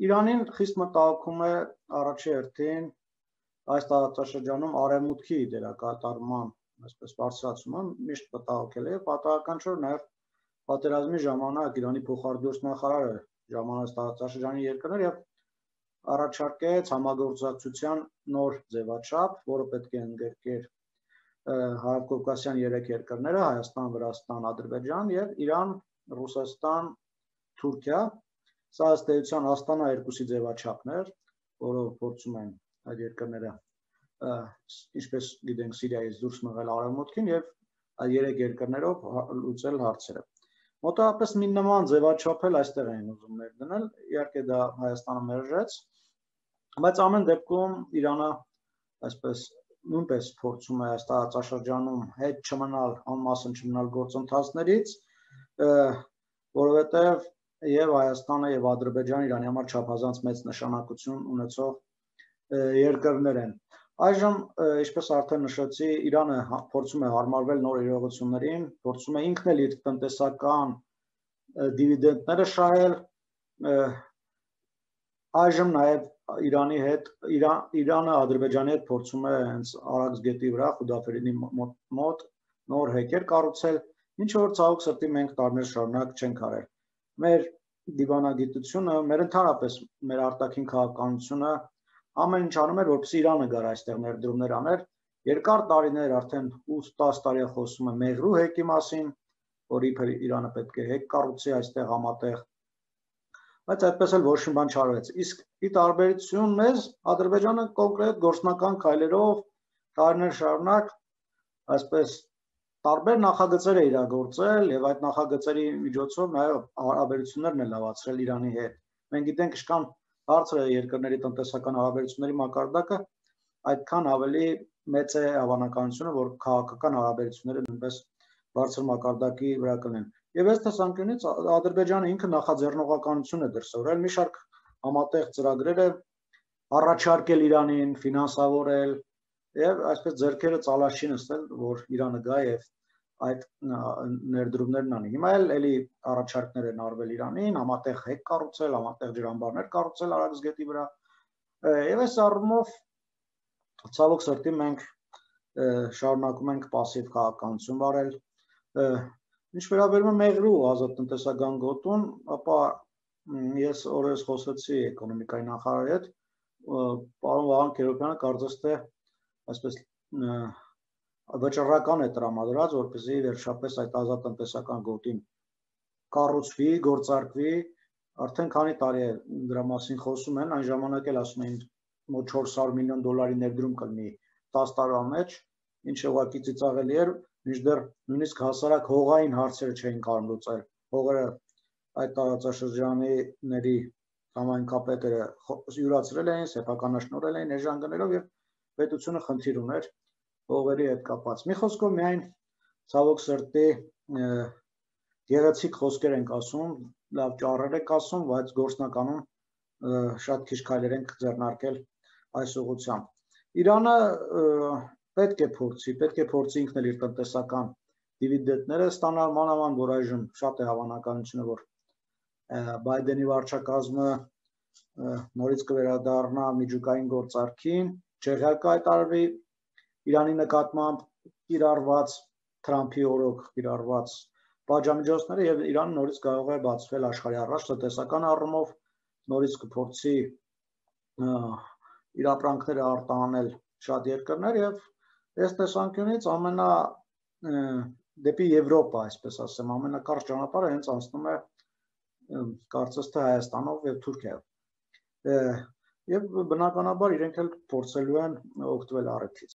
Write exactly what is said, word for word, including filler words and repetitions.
Իրանին խիստ մտահոգում է առաջի հերթին այս տարածաշրջանում արևմուտքի դերակատարման այսպես բարձրացումը միշտ մտահոգել է, պատահական չէ, որ նաև պատերազմի ժամանակ Իրանի փոխարդյոց նախարարը ժամանեց տարածաշրջանի երկրներ եւ առաջարկեց համագործակցության նոր ձևաչափ, որը պետք է ընդգրկեր Հարավկովկասյան երեք երկրները՝ Հայաստան, Վրաստան, Ադրբեջան եւ Իրան, Ռուսաստան, Թուրքիա։ Սա ըստ էության Աստանա երկուսի ձևաչափներ, որով փորձում են այդ երկրները, ինչպես գիտենք, Սիրիայից դուրս մղել արևմուտքին եւ այդ երեք երկրներով լուծել հարցերը։ Մոտավորապես մի նման ձևաչափ էլ այստեղ են ուզում ներդնել, իհարկե դա Հայաստանը մերժեց, բայց ամեն դեպքում Իրանը այսպես նույնպես փորձում է այս տարածաշրջանում հետ չմնալ, անմասն չմնալ գործընթացներից, որովհետև եւ Հայաստանը եւ Ադրբեջանը Իրանի համար չափազանց մեծ նշանակություն ունեցող երկրներ են։ Այժմ, ինչպես արդեն նշեցի, Իրանը փորձում է հարմարվել նոր իրողություններին, փորձում է ինքն էլ իր տնտեսական դիվիդենդները շահել, այժմ նաեւ Իրանի հետ Իրանը Ադրբեջանի հետ փորձում է հենց Արաքս գետի վրա Խուդաֆերինի մոտ նոր հեկեր կառուցել, ինչ որ ցավոք սրտի մենք տարիներ շարունակ չենք արել։ Մեր դիվանագիտությունը, մեր ընդհանրապես մեր արտաքին քաղաքականությունը ամեն ինչ անում էր, որպեսզի Իրանը գար այստեղ ներդրումներ աներ։ Երկար տարիներ արդեն ութ տասը տարի խոսում է Մեղրու հեկի մասին, որ իբր Իրանը պետք է հեկ կառուցի այստեղ համատեղ, բայց այդպես էլ ոչ մի բան չարվեց։ Իսկ ի տարբերություն մեզ Ադրբեջանը կոնկրետ գործնական քայլերով տարիներ շարունակ այսպես տարբեր նախագծեր է իրագործել եւ այդ նախագծերի միջոցով նաեւ հարաբերություններն է լավացրել Իրանի հետ։ Մենք գիտենք, ինչքան բարձր է երկրների տնտեսական հարաբերությունների մակարդակը, այդքան ավելի մեծ է հավանականությունը, որ քաղաքական հարաբերությունները նույնպես բարձր մակարդակի վրա կլինեն։ Եվ այս տեսանկյունից Ադրբեջանը ինքը նախաձեռնողականություն է դրսևորել, մի շարք համատեղ ծրագրեր է առաջարկել Իրանին, ֆինանսավորել եւ այսպես ձեռքերը ծալած չի նստել, որ Իրանը գա եւ այդ ներդրումներն անի։ Հիմա էլ էլի առաջարկներ են արվել Իրանին, համատեղ հեկ կառուցել, համատեղ ջրամբարներ կառուցել Արաքս գետի վրա։ Եվ այս առումով ցավոք սրտի մենք շարունակում ենք պասիվ քաղաքականություն վարել։ Ինչ վերաբերում է Մեղրու ազատ տնտեսական գոտուն, ապա ես օրերս խոսեցի էկոնոմիկայի նախարարի հետ, պարոն Վահան Քերոբյանը կարծես թե այսպես վճռական է տրամադրած, որպեսզի վերջապես այդ ազատ տնտեսական գոտին կառուցվի, գործարկվի, արդեն քանի տարի է դրա մասին խոսում են, այն ժամանակ էլ ասում էին մոտ չորս հարյուր միլիոն դոլարի ներդրում կլինի տասը տարվա մեջ, ինչը ուղղակի ծիծաղելի էր, մինչդեռ նույնիսկ հասարակ հողային հարցերը չէին կարող լուծել։ Հողերը այդ տարածաշրջանների համայնքապետերը յուրացրել էին, սեփականաշնորհել էին էժան գներով եւ պետությունը խնդիր ուներ հողերի հետ կապված։ Մի խոսքով միայն ցավոք սրտի գեղեցիկ խոսքեր ենք ասում, լավ ճառեր ենք ասում, բայց գործնականում շատ քիչ քայլեր ենք ձեռնարկել այս ուղղությամբ։ Իրանը պետք է փորձի, պետք է փորձի ինքն էլ իր տնտեսական դիվիդենդները ստանալ, մանավանդ որ այժմ շատ է հավանականությունը, որ Բայդենի վարչակազմը նորից կվերադառնա միջուկային գործարքին, չեղյալ կհայտարարվի Իրանի նկատմամբ կիրառված Թրամփի օրոք կիրառված պատժամիջոցները եւ Իրանը նորից կարող է բացվել աշխարհի առաջ տնտեսական առումով, նորից կփորձի իր ապրանքները արտահանել շատ երկրներ եւ այս տեսանկյունից ամենա դեպի Եվրոպա, այսպես ասեմ, ամենակարճ ճանապարհը հենց անցնում է կարծես թե Հայաստանով եւ Թուրքիայով։ Եվ բնականաբար իրենք էլ փորձելու են օգտվել առիթից։